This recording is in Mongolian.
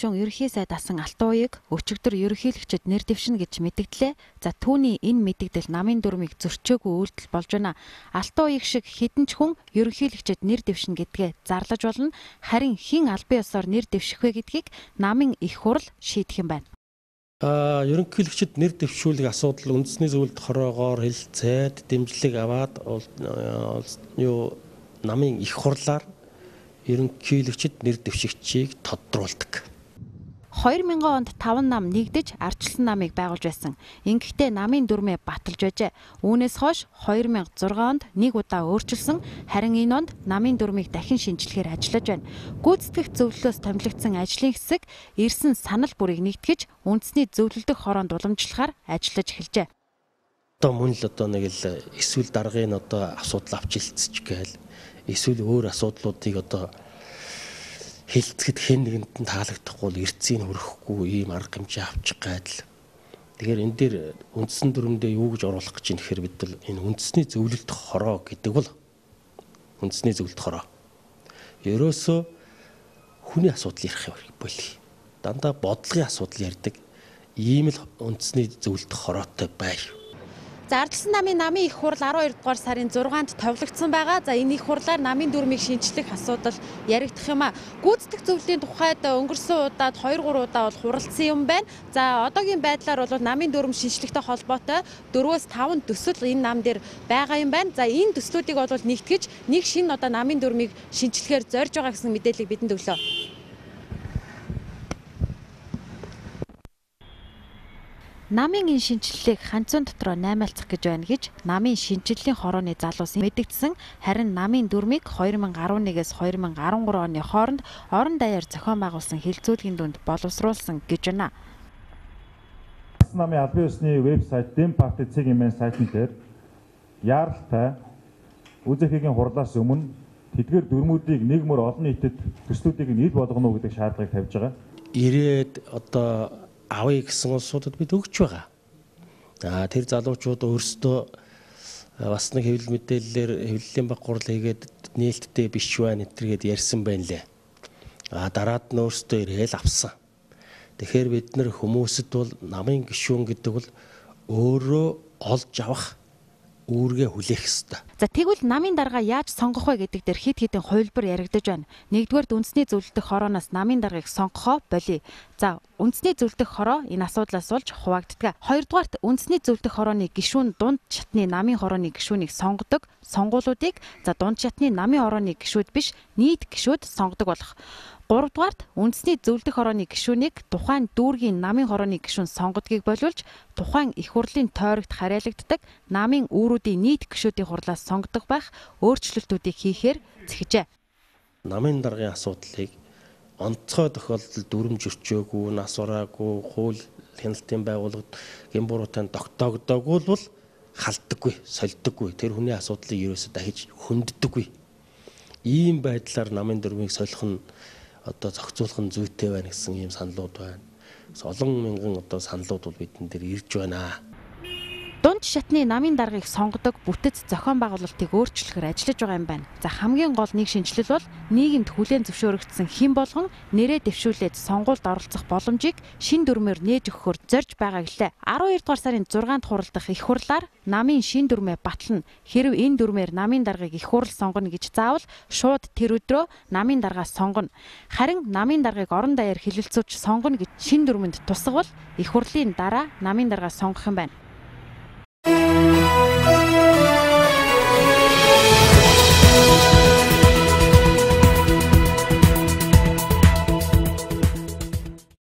гишүүн ерөнхий сайд асан Алтууяг өчигдөр ерөнхийлөгчөд нэр дэвшинэ гэж мэдгдлээ. За түүний энэ мэдэгдэл намын дүрмийг зөрчөөгүй үйлдэл болж байна. Алтууяг шиг хэдэн ч хүн ерөнхийлөгчөд нэр дэвшинэ гэдгээ зарлаж болно. Харин хэн албан ёсоор нэр дэвших вэ гэдгийг намын их хурал шийдэх юм байна. Ерөнхийлөгчөд нэр дэвшүүлэх асуудал үндэсний зөвлөлт хороогоор хэлэлцээд дэмжлэг аваад намын их хурлаар ерөнхийлөгчөд нэр дэвшигчийг тодруулдаг. 2000 онд 5 нам нэгдэж ардчилсан намыг байгуулж байсан. Ингэхдээ намын дүрмээ баталж байжээ. Үүнээс хойш 2006 онд нэг удаа өөрчилсөн. Харин энэ онд намын дүрмийг дахин шинжилгээр ажиллаж байна. Гүйцэтгэх зөвлөлөөс томилогдсон ажлын хэсэг ирсэн санал бүрийг нэгтгэж үндэсний зөвлөлдөх хороонд уламжлахаар ажиллаж эхэлжээ. Мөн л нэг л эсвэл даргын асуудал авч хэлцэж гээл эсвэл өөр асуудлуудыг хэлцэхэд хэн нэгэнд нь таалагдахгүй бол эрцийг хөрөхгүй ийм арга хэмжээ авчих гайдал. Тэгэхээр энэ дээр үндсэн дүрмдээ юу гэж оруулах гэж юм гэхээр бид нар энэ үндэсний зөвлөлт хороо гэдэг бол үндэсний зөвлөлт хороо. Ерөөсөө хүний асуудал ярих болий. Дандаа бодлогын асуудал ярьдаг ийм л үндэсний зөвлөлт хороотой бай. За ардчилсан намын их хурал 12 дугаар сарын 6-нд товлогдсон байгаа. За энэ их хурлаар намын дүрмийг шинчлэх асуудал яригдах юм а. Гүйцэтгэх зөвлөлийн тухайд өнгөрсөн удаад 2-3 удаа бол хуралдсан юм байна. За одоогийн байдлаар бол намын дүрм шинчлэхтэй холбоотой 4-5 төсөл энэ нам дээр байгаа юм байна. За энэ төслүүдийг бол нэгтгэж нэг шинэ намын дүрмийг шинчлэхээр зорж байгаа гэсэн мэдээллийг бидэнд өглөө. Намын энэ шинжилгээг ханцуун дотроо наймаалцах гэж байна гэж намын шинжилгэлийн хорооны залуус мэдгдсэн. Харин намын дүрмийг 2011-ээс 2013 оны хооронд орон даяар зохион байгуулсан хилцүүлгийн дүнд боловсруулсан гэж байна. Намын албан ёсны вебсайт Демпарти цэгийн сайтн дээр яаралтай ҮЗХ-гийн хурлаас өмнө тэдгээр дүрмүүдийг нэг мөр олон нийтэд төслүүдийг нийл болгоно гэдэг шаардлагыг тавьж байгаа. Ирээд авъя гэсэн улсуудад бид өгч байгаа. Тэр залуучууд өөрсдөө бас нэг хэвлэл мэдээллээр хэвлэлийн баг гурал хийгээд нээлттэй биш байна гэдэргээд ярьсан байна лээ. Дараад нь өөрсдөө ирээл авсан. Тэгэхээр бид нар хүмүүсэд бол намын гишүүн гэдэг бол өөрөө олж авах үүргээ хүлээх ёстой. За тэгвэл намын дарга яаж сонгох вэ гэдэг дээр хэд хэдэн хувилбар яригдаж байна. Нэгдүгээр үндэсний зөвлөлдөх хорооноос намын даргаыг сонгохоо болий. За үндэсний зөвлөлдөх хороо энэ асуудлаас болж хуваагддаг. Хоёрдугаарт үндэсний зөвлөлдөх хорооны гишүүн дунд шатны намын хорооны гишүүнийг сонгодог. Сонгуулиудыг дунд шатны намын хорооны гишүүд биш нийт гишүүд сонгодог болох. Гуравдугаарт үндэсний зөвлөлдөх хорооны гишүүнийг тухайн дүүргийн намын хорооны гишүүн сонгодгийг боловч тухайн их хурлын тойрогт харьяалагддаг намын үүрүүдийн нийт гишүүдийн хурлаас сонгодог байх өөрчлөлтүүдийг хийхээр зэхжээ. Намын даргын асуудлыг онцгой тохиолдолд дүрм зөрчөөгүй, нас ураагүй, хууль хяналтын байгууллагад гэмбуруутай тогтоогдоогүй бол халддаггүй, сольддоггүй. Тэр хүний асуудлыг ерөөсөө дахиж хөнддөггүй. Ийм байдлаар намын дүрмийг солих нь зохицуулах нь зүйтэй байна гэсэн ийм саналууд байна. Олон мянган саналууд бол бидэн дээр ирж байна. Дунд шатны намын даргаыг сонгодог бүтэц зохион байгуулалтыг өөрчлөхөр ажиллаж байгаа юм байна. За хамгийн гол нэг шинжилэл бол нийгэмд хүлээн зөвшөөрөгдсөн хэн болгон нэрээ дэвшүүлээд сонгуульд оролцох боломжийг шин дүрмээр нээж өгөхөөр зорж байгаа гэлээ. 12 дугаар сарын 6-нд хуралдах их хурлаар намын шин дүрмээ батлана. Хэрв энэ дүрмээр намын даргаыг их хурал сонгоно гэж заавал шууд тэр өдрөө намын даргаа сонгоно. Харин намын даргаыг орон даяар хэлэлцүүлж сонгоно гэж шин дүрмэнд тусгавал их хурлын дараа намын даргаа сонгох юм байна.